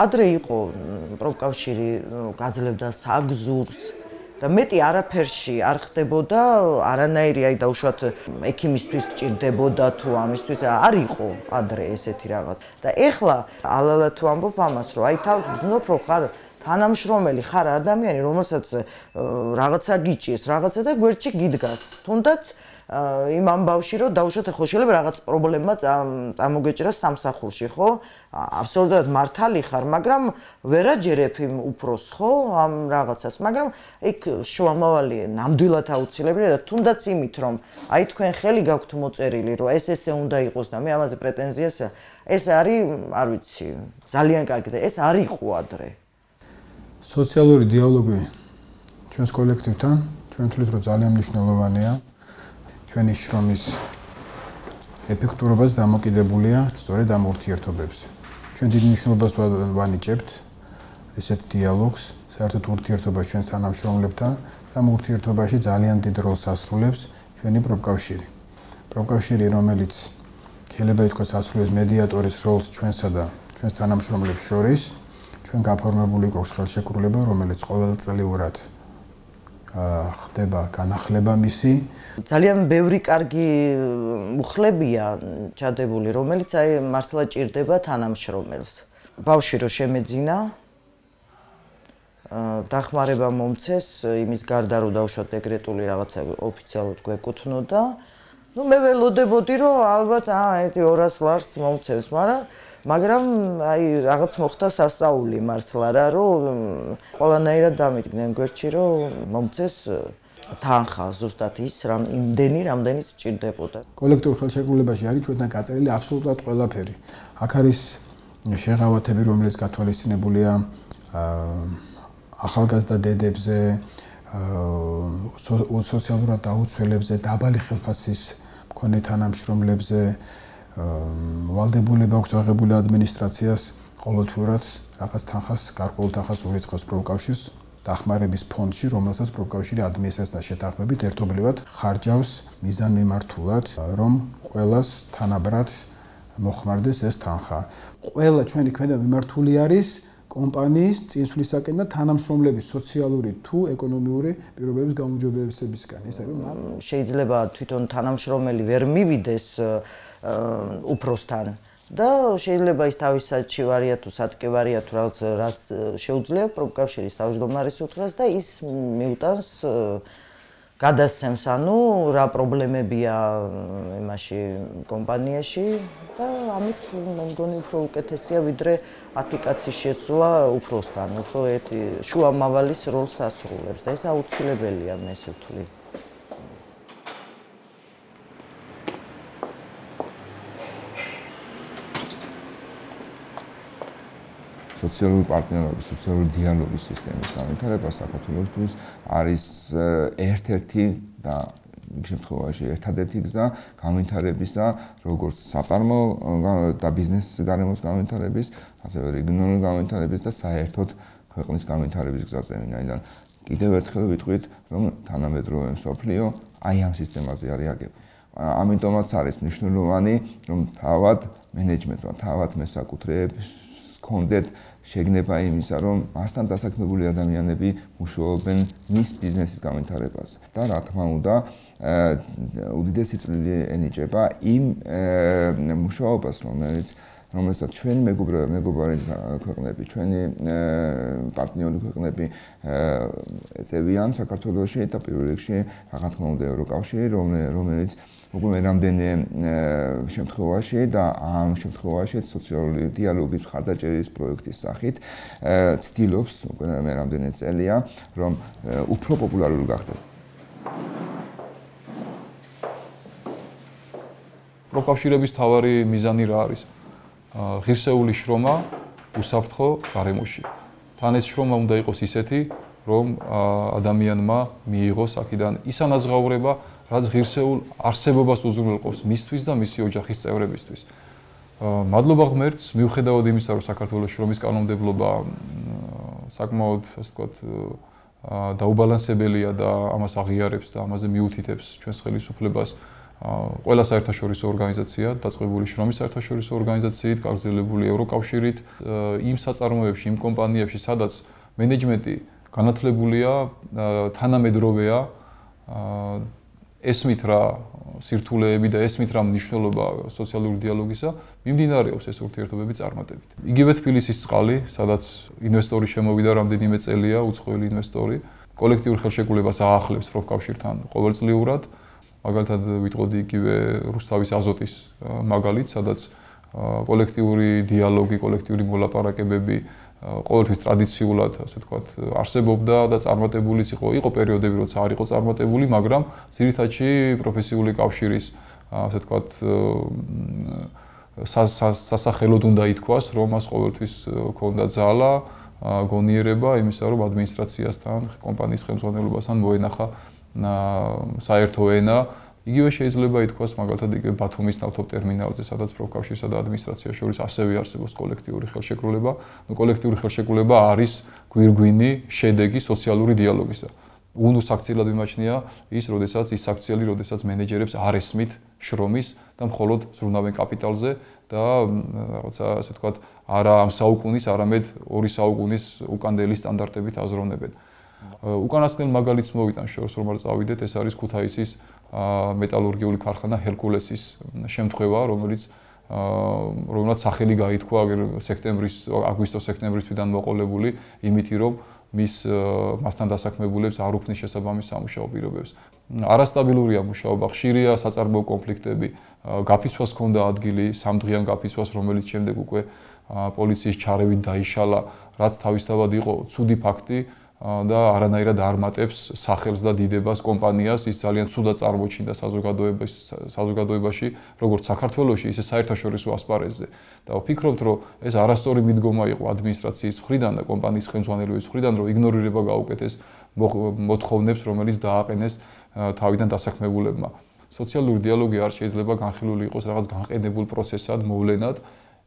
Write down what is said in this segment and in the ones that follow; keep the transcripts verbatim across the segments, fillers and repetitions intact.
ადრე იყო პროფკავშირი გაძლევდა საგზურს და მეტი არაფერში არ ხდებოდა, არანაირი აი დაუშვათ ექიმისთვის გჭირდებოდა თუ ამისთვის არ იყო ადრე ესეთი რაღაც. და ეხლა ალალა თუ ამბობ ამას, რომ აი თავს გზნობ, რომ ხარ თანამშრომელი, ხარ ადამიანი, რომელსაც რაღაცა გიჭირს, რაღაცა და გვერდში გიდგას. თუნდაც იმ ამბავში, რომ დაუშვათ ხო შეიძლება რაღაც პრობლემა წამოგეჭრას სამსახურში, ხო? აბსოლუტურად მართალი ხარ, მაგრამ ვერ აჯერებ იმ უფროს, ხო, ამ რაღაცას, მაგრამ იქ შუამავალი ნამდვილად აუცილებელია და თუნდაც იმით, რომ აი თქვენ ხელი გაქვთ მოწერილი, რომ ეს ესე უნდა იყოს და მე ამაზე პრეტენზიას, ეს არის, არ ვიცი, ძალიან კარგი და ეს არ იყო ადრე. სოციალური დიალოგი ჩვენს კოლექტივთან, ჩვენ თვლით, რომ ძალიან მნიშვნელოვანია. ჩვენი შრომის ეფექტურობას დამოკიდებულია სწორედ ამ ურთიერთობებზე. ჩვენ დიდ მნიშვნელობას ვანიჭებთ ესეთ დიალოგს, საერთოდ ურთიერთობა ჩვენს თანამშრომლებთან და ამ ურთიერთობაში ძალიან დიდ როლს ასრულებს ჩვენი პროფკავშირი. პროფკავშირი, რომელიც შეიძლება ითქვას ასრულებს მედიატორის როლს ჩვენსა და ჩვენს თანამშრომლებს შორის, ჩვენ გაფორმებული გვაქვს ხელშეკრულება, რომელიც ყოველწლიურად ხდება განახლება მისი. ძალიან ბევრი კარგი მუხლებია ჩადებული, რომელიც აი მართლა ჭირდება თანამშრომელს. ბავშვი რო შემეძინა, დახმარება მომცეს, იმის გარდა რომ დაუშვათ დეკრეტული რაღაცა ოფიციალურად გვეკუთვნოდა. ნუ მე ველოდებოდი, რომ ალბათ აა ერთი ორას ლარს მომცეს, მაგრამ მაგრამ აი რაღაც მოხდა სასწაული მართლა რა, რომ ყველანაირად დამიდგნენ გვერდში, რომ მომცეს თანხა ზუსტად ის რამ იმდენი რამდენიც ჭირდებოდა. კოლექტიურ ხელშეკრულებაში არის ჩვენთან გაწერილი აბსოლუტურად ყველაფერი. აქ არის შეღავათები, რომელიც გათვალისწინებულია ახალგაზრდა დედებზე, სოციალურად დაუცველებზე, დაბალი ხელფასის მქონე თანამშრომლებზე, ვალდებულება აქვს აღებული ადმინისტრაციას ყოველთვიურად რაღაც თანხას, გარკვეულ თანხას ურიცხავს პროფკავშირს დახმარების ფონდში, რომელსაც პროფკავშირი ადმინისტრაციასთან შეთანხმებით ერთობლივად ხარჯავს მიზანმიმართულად, რომ ყველას თანაბრად მოხმარდეს ეს თანხა. ყველა ჩვენი ქმედება მიმართული არის კომპანიის წინსვლისაკენ და თანამშრომლების სოციალური თუ ეკონომიური პირობების გაუმჯობესებისკენ. ეს არის შეიძლება თვითონ თანამშრომელი ვერ მივიდეს უფროსთან და შეიძლება ის თავის საჭი ვარია თუ სატკე ვარია თუ რაღაც რაც შეუძლია პროფკავშირის თავმჯდომარის უთხრას და ის მიუტანს გადასცემს, ანუ რა პრობლემებია იმაში კომპანიაში და ამით მე მგონი უფრო უკეთესია ვიდრე ათი კაცის შეცვლა უფროსთან, უფრო ერთი შუამავალის როლს ასრულებს და ეს აუცილებელია მე ესე ვთვლი. სოციალური პარტნიორობის, სოციალური დიალოგის სისტემის განვითარება საქართველოსთვის არის ერთ-ერთი და იმ შემთხვევაში ერთადერთი გზა განვითარებისა, როგორც საწარმო და ბიზნეს გარემოს განვითარების, ასევე რეგიონალური განვითარების და საერთოდ ქვეყნის განვითარების გზაზე. ვინაიდან კიდევ ერთხელ ვიტყვით, რომ თანამედროვე მსოფლიო აი ამ სისტემაზე არის აგებული. ამიტომაც არის მნიშვნელოვანი, რომ თავად მენეჯმენტმა, თავად მესაკუთრეებს ჰქონდეთ შეგნება იმისა, რომ მასთან დასაქმებული ადამიანები მუშაობენ მის ბიზნესის განვითარებაზე. და რა თქმა უნდა, უდიდესი წვლილი ენიჭება იმ მუშაობას, რომელიც რომელსაც ჩვენი მეგობრები, მეგობარი ქვეყნები, ჩვენი პარტნიორი ქვეყნები ეწევიან საქართველოში და პირველ რიგში, რა თქმა უნდა, ევროკავშირი, რომელიც უკვე რამდენი შემთხვევაში და ამ შემთხვევაში სოციალური დიალოგის მხარდაჭერის პროექტის სახით ცდილობს უკვე მე რამდენი წელია, რომ უფრო პოპულარული გახდეს. პროფკავშირების მთავარი მიზანი რა არის? ღირსეული შრომა უსაფრთხო გარემოში. თან ეს შრომა უნდა იყოს ისეთი, რომ ადამიანმა მიიღოს აქედან ის ანაზღაურება, რაც ღირსეულ არსებობას უზრუნველყოფს მისთვის და მისი ოჯახის წევრებისთვის. მადლობა ღმერთს, მიუხედავად იმისა, რომ საქართველოს შრომის კანონმდებლობა საკმაოდ, ასე ვთქვათ, დაუბალანსებელია და ამას აღიარებს და ამაზე მიუთითებს ჩვენს ხელისუფლებას ყველა საერთაშორისო ორგანიზაცია, დაწყებული შრომის საერთაშორისო ორგანიზაციით, გაგრძელებული ევროკავშირით, იმ საწარმოებში, იმ კომპანიებში, სადაც მენეჯმენტი განათლებულია, თანამედროვეა, ესმით რა სირთულეები და ესმით რა მნიშვნელობა სოციალური დიალოგისა, მიმდინარეობს ეს ურთიერთობები წარმატებით. იგივე თბილისის წყალი, სადაც ინვესტორი შემოვიდა რამდენიმე წელია, უცხოელი ინვესტორი, კოლექტიურ ხელშეკრულებას აახლებს პროფკავშირთან ყოველწლიურად. მაგალითად ვიტყოდი იგივე რუსთავის აზოტის მაგალით, სადაც კოლექტიური დიალოგი, კოლექტიური მოლაპარაკებები ყოველთვის ტრადიციულად, ასე ვთქვათ, არსებობდა და წარმატებულიც იყო. იყო პერიოდები, როცა არ იყო წარმატებული, მაგრამ ძირითადში პროფესიული კავშირის, ასე ვთქვათ, სასახელოდ უნდა ითქვას, რომ მას ყოველთვის ჰქონდა ძალა, გონიერება იმისა, რომ ადმინისტრაციასთან, კომპანიის ხელმძღვანელობასთან მოენახა საერთო ენა. იგივე შეიძლება ითქვას მაგალითად იგივე ბათუმის ნავთობტერმინალზე, სადაც პროფკავშირსა და ადმინისტრაციას შორის ასევე არსებობს კოლექტიური ხელშეკრულება. ნუ კოლექტიური ხელშეკრულება არის გვირგვინი შედეგი სოციალური დიალოგისა. უნუს აქციელად მიმაჩნია ის, როდესაც ის აქციელი, როდესაც მენეჯერებს არ ესმით შრომის და მხოლოდ ზრუნავენ კაპიტალზე და რაღაცა ასე ვთქვათ, არა ამ საუკუნის, არამედ ორი საუკუნის უკანდელი სტანდარტებით აზროვნებენ. უკანასკნელ მაგალითს მოვიტან შორს რომ არ წავიდეთ, ეს არის ქუთაისის მეტალურგიული ქარხანა ჰერკულესის შემთხვევა, რომელიც რომელსაც სახელი გაითქვა სექტემბრის, აგვისტო-სექტემბრის თვიდან მოყოლებული იმითი, რომ მის მასთან დასაქმებულებს არ უქმნის შესაბამის სამუშაო პირობებს. არასტაბილურია მუშაობა, ხშირია საწარმოო კონფლიქტები, გაფიცვას ჰქონდა ადგილი, სამდღიან გაფიცვას, რომელიც შემდეგ უკვე პოლიციის ჩარევით დაიშალა, რაც თავისთავად იყო ცუდი ფაქტი და არანაირად არ მატებს სახელს და დიდებას კომპანიას, ის ძალიან ცუდად წარმოჩინდა საზოგადოებაში, როგორც საქართველოში, ისე საერთაშორისო ასპარეზზე. და ვფიქრობთ, რომ ეს არასწორი მიდგომა იყო ადმინისტრაციის მხრიდან და კომპანიის ხელმძღვანელობის მხრიდან, რომ იგნორირება გაუკეთეს მოთხოვნებს, რომელიც დააყენეს თავიდან დასაქმებულებმა. სოციალური დიალოგი არ შეიძლება განხილული იყოს რაღაც განყენებულ პროცესად, მოვლენად.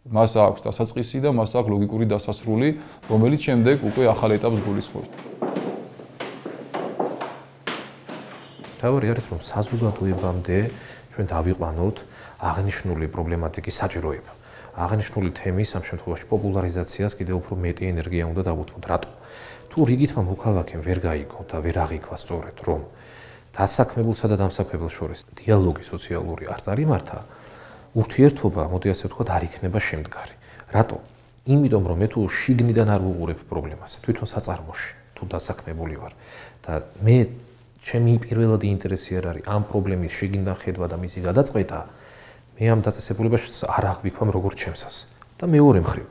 მას აქვს დასაწყისი და მას აქვს ლოგიკური დასასრული, რომელიც შემდეგ უკვე ახალ ეტაპს გულისხმობს. თავი არის, რომ საზოგადოებამდე ჩვენ დავიყვანოთ აღნიშნული პრობლემატიკის საჭიროება. აღნიშნული თემის ამ შემთხვევაში პოპულარიზაციას კიდევ უფრო მეტი ენერგია უნდა დავუთმოთ. რატო? თუ რიგითმა მოქალაქემ ვერ გაიგო და ვერ აღიქვა სწორედ, რომ დასაქმებულსა და დამსაქმებელს შორის დიალოგი სოციალური არ წარიმართა, ურთიერთობა, მოდი ასე ვთქვათ, არ იქნება შემდგარი. რატო? იმიტომ, რომ მე თუ შიგნიდან არ ვუყურებ პრობლემას, თვითონ საწარმოში, თუ დასაქმებული ვარ და მე ჩემი პირველადი ინტერესი არ არის ამ პრობლემის შიგნიდან ხედვა და მისი გადაწყვეტა, მე ამ დაწესებულებაში არ აღვიქვამ როგორც ჩემსას. და მეორე მხრივ,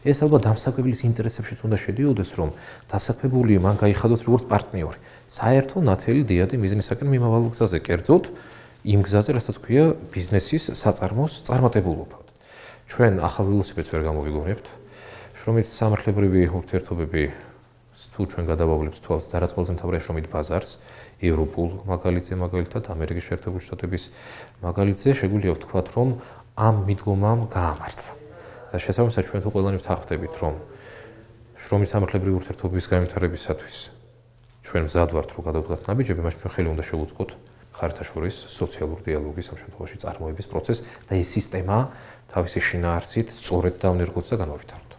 ეს ალბათ დამსაქმებლის ინტერესებშიც უნდა შედიოდეს, რომ დასაქმებული მან გაიხადოს როგორც პარტნიორი. საერთო ნათელი დიადი მიზნისაკენ მიმავალ გზაზე, კერძოდ იმ გზაზე, რასაც ქვია ბიზნესის საწარმოს წარმატებულობა. ჩვენ ახალ ველოსიპედს ვერ გამოვიგონებთ. შრომით სამართლებრივი ურთიერთობები თუ ჩვენ გადავავლებთ თვალს და რაც ყველაზე მთავარია შრომით ბაზარს, ევროპულ მაგალითზე, მაგალითად ამერიკის შეერთებული შტატების მაგალითზე, შეგვიძლია ვთქვათ, რომ ამ მიდგომამ გაამართლა. და შესაბამისად ჩვენ თუ ყველანი ვთანხმდებით, რომ შრომით სამართლებრივი ურთიერთობების განვითარებისათვის ჩვენ მზად ვართ, რომ გადავდგათ ნაბიჯები, მას ჩვენ ხელი უნდა შევუწყოთ ხართა შორის სოციალურ დიალოგის ამ შემთხვევაში წარმოების პროცესს და ეს სისტემა თავისი შინაარსით სწორედ დავნერგოთ და განავითაროთ.